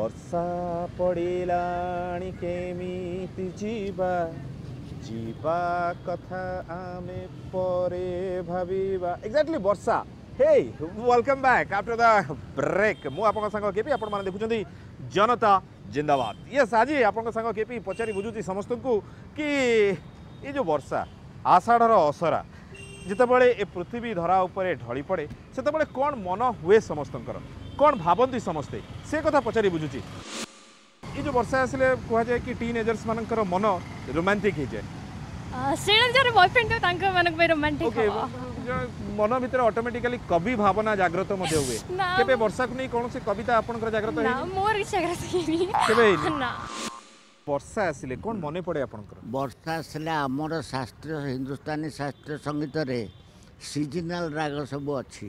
ବର୍ଷା ପଡ଼ିଲାଣି କେମିତି ଯିବା, ଯିବା କଥା ଆମେ ପରେ ଭାବିବା। ଏକ୍ଜାକ୍ଟଲି ବର୍ଷା। Hey, welcome back after the break. ମୁଁ ଆପଣଙ୍କ ସାଙ୍ଗ କେପି, ଆପଣମାନେ ଦେଖୁଛନ୍ତି ଜନତା ଜିନ୍ଦାବାଦ। ୟେସ୍, ଆଜି ଆପଣଙ୍କ ସାଙ୍ଗ କେପି ପଚାରି ବୁଝୁଛି ସମସ୍ତଙ୍କୁ କି ଏ ଯେଉଁ ବର୍ଷା, ଆଷାଢ଼ର ଅସରା ଯେତେବେଳେ ଏ ପୃଥିବୀ ଧରା ଉପରେ ଢଳି ପଡ଼େ, ସେତେବେଳେ କ'ଣ ମନ ହୁଏ ସମସ୍ତଙ୍କର, କ'ଣ ଭାବନ୍ତି ସମସ୍ତେ, ସେ କଥା ପଚାରି ବୁଝୁଛି। ଏ ଯେଉଁ ବର୍ଷା ଆସିଲେ କୁହାଯାଏ କି ଟିନ୍ ଏଜର୍ସ ମାନଙ୍କର ମନ ରୋମାଣ୍ଟିକ୍ ହେଇଯାଏ। ସେଇଟା ଯାହାର ବୟଫ୍ରେଣ୍ଡ ଥିବ ତାଙ୍କ ମାନଙ୍କ ପାଇଁ ରୋମାଣ୍ଟିକ୍। ଓକେ, ମନ ଭିତରେ ଅଟୋମେଟିକାଲି କବି ଭାବନା ଜାଗ୍ରତ ମଧ୍ୟ ହୁଏ। ନା। କେବେ ବର୍ଷାକୁ ନେଇ କୌଣସି କବିତା ଆପଣଙ୍କର ଜାଗ୍ରତ ନା। ହେଇନି? ମୋର କିଛି ଜାଗ୍ରତ ହେଇନି। କେବେ ହେଇନି? ନା। ବର୍ଷା ଆସିଲେ କ'ଣ ମନେ ପଡ଼େ ଆପଣଙ୍କର? ବର୍ଷା ଆସିଲେ ଆମର ଶାସ୍ତ୍ରୀୟ, ହିନ୍ଦୁସ୍ତାନୀ ଶାସ୍ତ୍ରୀୟ ସଙ୍ଗୀତରେ ସିଜନାଲ ରାଗ ସବୁ ଅଛି,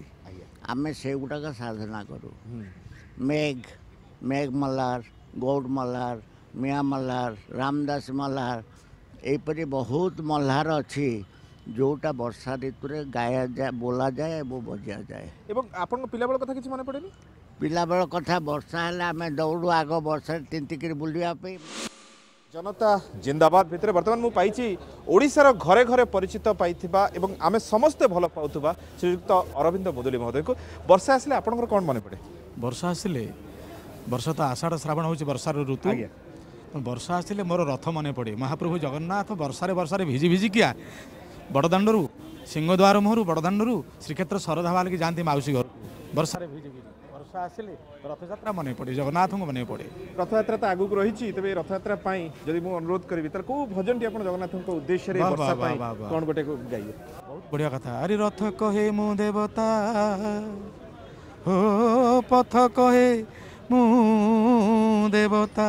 ଆମେ ସେଗୁଡ଼ାକ ସାଧନା କରୁ। ମେଘ, ମେଘ ମଲ୍ହାର, ଗୌଡ଼ ମଲ୍ହାର, ମିଆଁ ମଲ୍ହାର, ରାମଦାସ ମଲ୍ହାର, ଏହିପରି ବହୁତ ମଲ୍ହାର ଅଛି ଯେଉଁଟା ବର୍ଷା ଋତୁରେ ଗାୟାଯାଏ, ବୋଲାଯାଏ ଏବଂ ବଜାଯାଏ। ଏବଂ ଆପଣଙ୍କ ପିଲାବେଳ କଥା କିଛି ମନେ ପଡ଼େନି? ପିଲାବେଳ କଥା, ବର୍ଷା ହେଲେ ଆମେ ଦୌଡ଼ୁ ଆଗ ବର୍ଷାରେ ତିନ୍ତିକିରି ବୁଲିବା ପାଇଁ। ଜନତା ଜିନ୍ଦାବାଦ ଭିତରେ ବର୍ତ୍ତମାନ ମୁଁ ପାଇଛି ଓଡ଼ିଶାର ଘରେ ଘରେ ପରିଚିତ ପାଇଥିବା ଏବଂ ଆମେ ସମସ୍ତେ ଭଲ ପାଉଥିବା ଶ୍ରୀଯୁକ୍ତ ଅରବିନ୍ଦ ମୁଦୁଲି ମହୋଦୟଙ୍କୁ। ବର୍ଷା ଆସିଲେ ଆପଣଙ୍କର କ'ଣ ମନେ ପଡ଼େ? ବର୍ଷା ଆସିଲେ, ବର୍ଷା ତ ଆଷାଢ଼ ଶ୍ରାବଣ ହେଉଛି ବର୍ଷାର ଋତୁ। ବର୍ଷା ଆସିଲେ ମୋର ରଥ ମନେ ପଡ଼େ। ମହାପ୍ରଭୁ ଜଗନ୍ନାଥ ବର୍ଷାରେ ବର୍ଷାରେ ଭିଜି ଭିଜିକିଆ ବଡ଼ଦାଣ୍ଡରୁ, ସିଂହଦ୍ୱାର ମୁହଁରୁ, ବଡ଼ଦାଣ୍ଡରୁ ଶ୍ରୀକ୍ଷେତ୍ର ଶରଧା ବାଲିକି ଯାଆନ୍ତି ମାଉସୀ ଘରକୁ ବର୍ଷାରେ ଭିଜି ଭିଜି। ବର୍ଷା ଆସିଲେ ରଥଯାତ୍ରା ମନେ ପଡ଼େ, ଜଗନ୍ନାଥଙ୍କୁ ମନେ ପଡ଼େ। ରଥଯାତ୍ରା ତ ଆଗକୁ ରହିଛି। ତେବେ ଏ ରଥଯାତ୍ରା ପାଇଁ ଯଦି ମୁଁ ଅନୁରୋଧ କରିବି, ତାହେଲେ କୋଉ ଭଜନଟି ଆପଣ ଜଗନ୍ନାଥଙ୍କ ଉଦ୍ଦେଶ୍ୟରେ ବାह, ବର୍ଷା ବାହ, ପାଇଁ ବାହ, ବାହ। କ'ଣ ଗୋଟେ ଗାଇବେ? ବହୁତ ବଢ଼ିଆ କଥା। ଆରେ ରଥ କହେ ମୁଁ ଦେବତା ହୋ, ପଥ କହେ ମୁଁ ଦେବତା,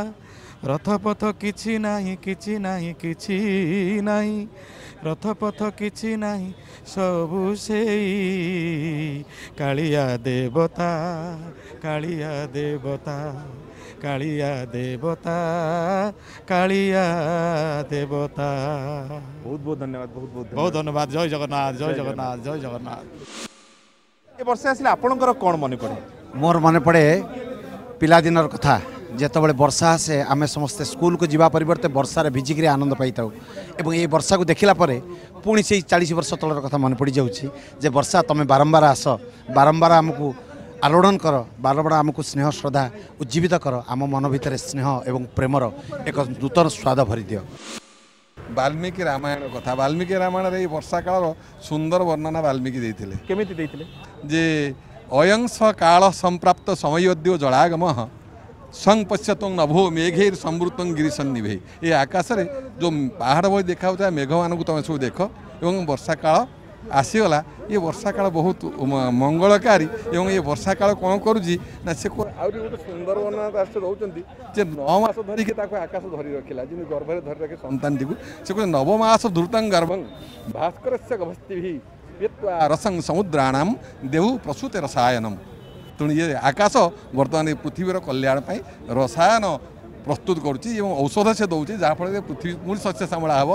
ରଥ ପଥ କିଛି ନାହିଁ, କିଛି ନାହିଁ, କିଛି ନାହିଁ, ରଥ ପଥ କିଛି ନାହିଁ, ସବୁ ସେଇ କାଳିଆ ଦେବତା, କାଳିଆ ଦେବତା, କାଳିଆ ଦେବତା, କାଳିଆ ଦେବତା। ବହୁତ ବହୁତ ଧନ୍ୟବାଦ, ବହୁତ ବହୁତ। ବହୁତ ଧନ୍ୟବାଦ। ଜୟ ଜଗନ୍ନାଥ, ଜୟ ଜଗନ୍ନାଥ, ଜୟ ଜଗନ୍ନାଥ। ଏ ବର୍ଷା ଆସିଲେ ଆପଣଙ୍କର କ'ଣ ମନେ ପଡ଼େ? ମୋର ମନେ ପଡ଼େ ପିଲାଦିନର କଥା। ଯେତେବେଳେ ବର୍ଷା ଆସେ, ଆମେ ସମସ୍ତେ ସ୍କୁଲକୁ ଯିବା ପରିବର୍ତ୍ତେ ବର୍ଷାରେ ଭିଜିକିରି ଆନନ୍ଦ ପାଇଥାଉ ଏବଂ ଏଇ ବର୍ଷାକୁ ଦେଖିଲା ପରେ ପୁଣି ସେଇ 40 ବର୍ଷ ତଳର କଥା ମନେ ପଡ଼ିଯାଉଛି ଯେ ବର୍ଷା, ତୁମେ ବାରମ୍ବାର ଆସ, ବାରମ୍ବାର ଆମକୁ ଆଲୋଡ଼ନ କର, ବାରମ୍ବାର ଆମକୁ ସ୍ନେହ ଶ୍ରଦ୍ଧା ଉଜ୍ଜୀବିତ କର, ଆମ ମନ ଭିତରେ ସ୍ନେହ ଏବଂ ପ୍ରେମର ଏକ ନୂତନ ସ୍ୱାଦ ଭରିଦିଅ। ବାଲ୍ମୀକି ରାମାୟଣ କଥା। ବାଲ୍ମୀକି ରାମାୟଣରେ ଏଇ ବର୍ଷା କାଳର ସୁନ୍ଦର ବର୍ଣ୍ଣନା ବାଲ୍ମୀକି ଦେଇଥିଲେ। କେମିତି ଦେଇଥିଲେ? ଯେ ଅୟଂସ କାଳ ସମ୍ପ୍ରାପ୍ତ ସମୟଦ୍ୟ ଜଳାଗମ ସଂପଶ୍ୟତଂ ନଭୋ ମେଘେର ସମୃତଂ ଗିରିସନ୍ନିଭେ। ଏ ଆକାଶରେ ଯେଉଁ ପାହାଡ଼ ଭଳି ଦେଖାଯାଉଥିବା ମେଘମାନଙ୍କୁ ତୁମେ ସବୁ ଦେଖ ଏବଂ ବର୍ଷା କାଳ ଆସିଗଲା। ଏ ବର୍ଷା କାଳ ବହୁତ ମଙ୍ଗଳକାରୀ ଏବଂ ଏ ବର୍ଷା କାଳ କ'ଣ କରୁଛି ନା ସେ ଆହୁରି ଗୋଟେ ସୁନ୍ଦର ବର୍ଣ୍ଣନା ତା ସହିତ ଦେଉଛନ୍ତି ଯେ 9 ମାସ ଧରିକି ତାକୁ ଆକାଶ ଧରି ରଖିଲା, ଯେମିତି ଗର୍ଭରେ ଧରି ରଖେ ସନ୍ତାନଟିକୁ। ସେ କହୁଛନ୍ତି ନବମାସ ଧୃତଂ ଗର୍ଭଂ ଭାସ୍କରସ୍ୟ ଗଭସ୍ତିଭି ପିତ୍ୱା ରସଂ ସମୁଦ୍ରାଣାମ ଦେହୁ ପ୍ରସୂତେ ରସାୟନମ। ତେଣୁ ଇଏ ଆକାଶ ବର୍ତ୍ତମାନ ଏ ପୃଥିବୀର କଲ୍ୟାଣ ପାଇଁ ରସାୟନ ପ୍ରସ୍ତୁତ କରୁଛି ଏବଂ ଔଷଧ ସେ ଦେଉଛି, ଯାହାଫଳରେ ପୃଥିବୀ ପୁଣି ଶସ୍ୟ ଶ୍ୟାମଳା ହେବ।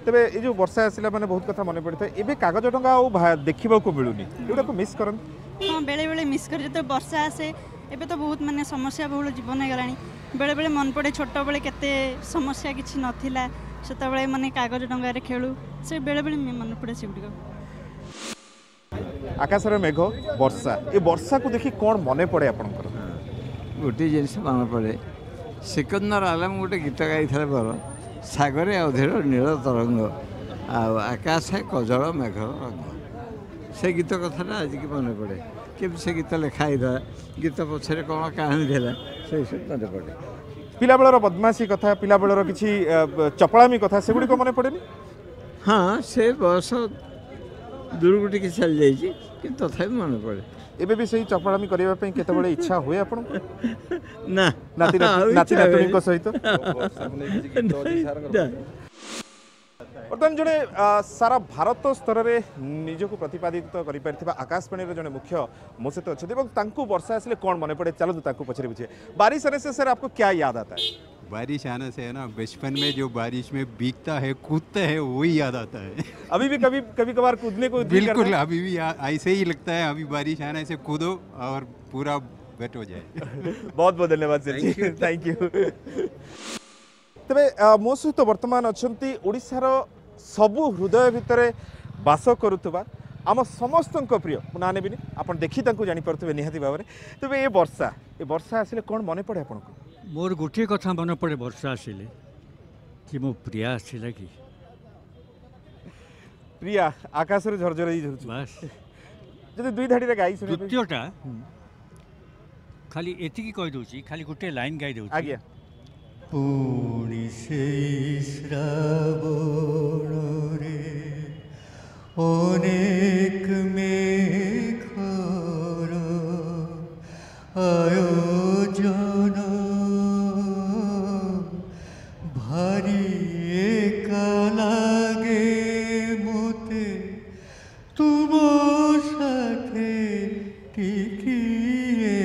ତେବେ ଏ ଯେଉଁ ବର୍ଷା ଆସିଲା ମାନେ ବହୁତ କଥା ମନେ ପଡ଼ିଥାଏ। ଏବେ କାଗଜ ଟଙ୍କା ଆଉ ଦେଖିବାକୁ ମିଳୁନି, ଏଗୁଡ଼ାକୁ ମିସ୍ କରନ୍ତି? ହଁ, ବେଳେବେଳେ ମିସ୍ କରେ ଯେତେବେଳେ ବର୍ଷା ଆସେ। ଏବେ ତ ବହୁତ ମାନେ ସମସ୍ୟା ବହୁଳ ଜୀବନ ହେଇଗଲାଣି। ବେଳେବେଳେ ମନେ ପଡ଼େ ଛୋଟବେଳେ କେତେ ସମସ୍ୟା କିଛି ନଥିଲା, ସେତେବେଳେ ମାନେ କାଗଜ ଡଙ୍ଗାରେ ଖେଳୁ। ସେ ବେଳେବେଳେ ମନେ ପଡ଼େ ସେଗୁଡ଼ିକ। ଆକାଶରେ ମେଘ, ବର୍ଷା, ଏ ବର୍ଷାକୁ ଦେଖି କ'ଣ ମନେ ପଡ଼େ ଆପଣଙ୍କର? ଗୋଟିଏ ଜିନିଷ ମନେ ପଡ଼େ, ସିକନ୍ଦର ଆଲମ ଗୋଟେ ଗୀତ ଗାଇଥିଲେ ବର ସାଗରେ ଅଧୀର ନୀଳ ତରଙ୍ଗ ଆଉ ଆକାଶେ କଜଳ ମେଘର ରଙ୍ଗ। ସେ ଗୀତ କଥାଟା ଆଜିକି ମନେ ପଡ଼େ। କେମିତି ସେ ଗୀତ ଲେଖା ହେଇଥିଲା, ଗୀତ ପଛରେ କ'ଣ କାହାଣୀ ଥିଲା, ସେସବୁ ମନେ ପଡ଼େ। ପିଲାବେଳର ବଦମାସି କଥା, ପିଲାବେଳର କିଛି ଚପଳାମି କଥା, ସେଗୁଡ଼ିକ ମନେ ପଡ଼େନି? ହଁ, ସେ ବୟସ ଦୂରକୁ ଟିକେ ଚାଲିଯାଇଛି, କିନ୍ତୁ ତଥାପି ମନେ ପଡ଼େ। ଏବେ ବି ସେଇ ଚପଳାମି କରିବା ପାଇଁ କେତେବେଳେ ଇଚ୍ଛା ହୁଏ ଆପଣଙ୍କୁ? ନା। ନାତି ଆଉ ନାତି ଇଚ୍ଛା ନାତୁଣୀଙ୍କ ହୁଏନି। ସହିତ ନା। ବର୍ତ୍ତମାନ ଜଣେ ସାରା ଭାରତ ସ୍ତରରେ ନିଜକୁ ପ୍ରତିପାଦିତ କରିପାରିଥିବା ଆକାଶବାଣୀର ଜଣେ ମୁଖ୍ୟ ମୋ ସହିତ ଅଛନ୍ତି ଏବଂ ତାଙ୍କୁ ବର୍ଷା ଆସିଲେ କ'ଣ ମନେ ପଡ଼େ, ଚାଲନ୍ତୁ ତାଙ୍କୁ ପଚାରି ବୁଝିବେ। बारिश आने से सर आपको क्या याद आता है? बारिश आने से है ना, बचपन में जो बारिश में भीगता है, कूदते हैं, वही याद आता है। अभी भी कभी कभी कभार कूदने को दिल करता बिल्कुल है? अभी भी ऐसे ही लगता है। अभी बारिश आने से कूदो और पूरा वेट हो जाए। बहुत बहुत धन्यवाद सर जी, thank you. ତେବେ ମୋ ସହିତ ବର୍ତ୍ତମାନ ଅଛନ୍ତି ଓଡ଼ିଶାର ସବୁ ହୃଦୟ ଭିତରେ ବାସ କରୁଥିବା ଆମ ସମସ୍ତଙ୍କ ପ୍ରିୟ, ମୁଁ ନାଁ ନେବିନି, ଆପଣ ଦେଖି ତାଙ୍କୁ ଜାଣିପାରୁଥିବେ ନିହାତି ଭାବରେ। ତେବେ ଏ ବର୍ଷା ଆସିଲେ କ'ଣ ମନେ ପଡ଼େ ଆପଣଙ୍କୁ? ମୋର ଗୋଟିଏ କଥା ମନେ ପଡ଼େ ବର୍ଷା ଆସିଲେ, କି ମୋ ପ୍ରିୟା ଆସିଲା କି। ପ୍ରିୟା ଆକାଶରୁ ଝରଝର ହେଇ ଝରୁଛି। ବାସ୍। ଯଦି ଦୁଇ ଧାଡ଼ିରେ ଗାଇ ଶୁଣିବେ। ଦ୍ୱିତୀୟଟା ଖାଲି ଏତିକି କହିଦେଉଛି, ଖାଲି ଗୋଟିଏ ଲାଇନ୍ ଗାଇ ଦେଉଛି। ଆଜ୍ଞା। ପୁଣି ସେଇ ଶ୍ରାବଣରେ ଅନେକ ମେଘର ଆୟୋଜନ, ଭାରି ଏକା ଲାଗେ ମୋତେ ତୁମ ସାଥେ ଟିକିଏ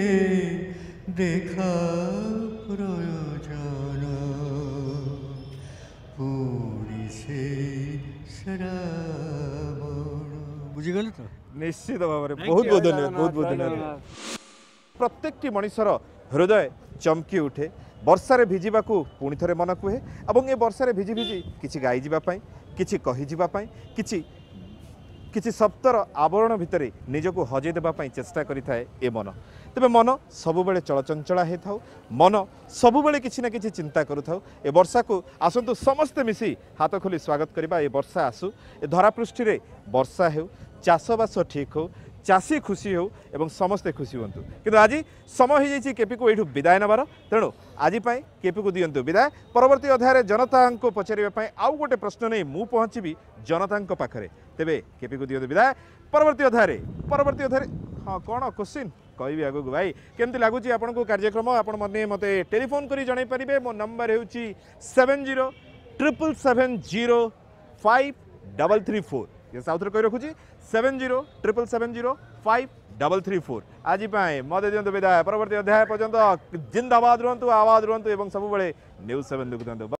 ଦେଖା ପ୍ରୟୋଜନ, ପୁଣି ସେଇ ଶ୍ରାବଣ। ବୁଝିଗଲେ ତ? ନିଶ୍ଚିତ ଭାବରେ, ବହୁତ ବହୁତ ଧନ୍ୟବାଦ, ବହୁତ ବହୁତ ଧନ୍ୟବାଦ। ପ୍ରତ୍ୟେକଟି ମଣିଷର ହୃଦୟ ଚମକି ଉଠେ ବର୍ଷାରେ ଭିଜିବାକୁ, ପୁଣି ଥରେ ମନ କୁହେ, ଏବଂ ଏ ବର୍ଷାରେ ଭିଜି ଭିଜି କିଛି ଗାଇଯିବା ପାଇଁ, କିଛି କହିଯିବା ପାଇଁ, କିଛି କିଛି ଶବ୍ଦର ଆବରଣ ଭିତରେ ନିଜକୁ ହଜେଇ ଦେବା ପାଇଁ ଚେଷ୍ଟା କରିଥାଏ ଏ ମନ। ତେବେ ମନ ସବୁବେଳେ ଚଳଚଞ୍ଚଳା ହେଇଥାଉ, ମନ ସବୁବେଳେ କିଛି ନା କିଛି ଚିନ୍ତା କରୁଥାଉ। ଏ ବର୍ଷାକୁ ଆସନ୍ତୁ ସମସ୍ତେ ମିଶି ହାତ ଖୋଲି ସ୍ୱାଗତ କରିବା। ଏ ବର୍ଷା ଆସୁ, ଏ ଧରାପୃଷ୍ଠିରେ ବର୍ଷା ହେଉ, ଚାଷବାସ ଠିକ୍ ହେଉ, ଚାଷୀ ଖୁସି ହେଉ ଏବଂ ସମସ୍ତେ ଖୁସି ହୁଅନ୍ତୁ। କିନ୍ତୁ ଆଜି ସମୟ ହେଇଯାଇଛି କେପିକୁ ଏଇଠୁ ବିଦାୟ ନେବାର, ତେଣୁ ଆଜି ପାଇଁ କେପିକୁ ଦିଅନ୍ତୁ ବିଦାୟ। ପରବର୍ତ୍ତୀ ଅଧ୍ୟାୟରେ ଜନତାଙ୍କୁ ପଚାରିବା ପାଇଁ ଆଉ ଗୋଟେ ପ୍ରଶ୍ନ ନେଇ ମୁଁ ପହଞ୍ଚିବି ଜନତାଙ୍କ ପାଖରେ। ତେବେ କେପିକୁ ଦିଅନ୍ତୁ ବିଦାୟ। ପରବର୍ତ୍ତୀ ଅଧ୍ୟାୟରେ ହଁ କ'ଣ କୋଶ୍ଚିନ୍ କହିବି ଆଗକୁ। ଭାଇ କେମିତି ଲାଗୁଛି ଆପଣଙ୍କୁ କାର୍ଯ୍ୟକ୍ରମ? ଆପଣ ମୋତେ ଟେଲିଫୋନ୍ କରି ଜଣାଇ ପାରିବେ। ମୋ ନମ୍ବର ହେଉଛି 70 777 0 5 3 3 4। ଆଉ ଥରେ କହି ରଖୁଛି, 70 777 0 5 3 3 4। ଆଜି ପାଇଁ ମୋତେ ଦିଅନ୍ତୁ ବିଦାୟ। ପରବର୍ତ୍ତୀ ଅଧ୍ୟାୟ ପର୍ଯ୍ୟନ୍ତ ଜିନ୍ଦାବାଦ ରୁହନ୍ତୁ, ଆବାଦ ରୁହନ୍ତୁ ଏବଂ ସବୁବେଳେ ନ୍ୟୁଜ୍ 7 ଦେଖୁଥାନ୍ତୁ।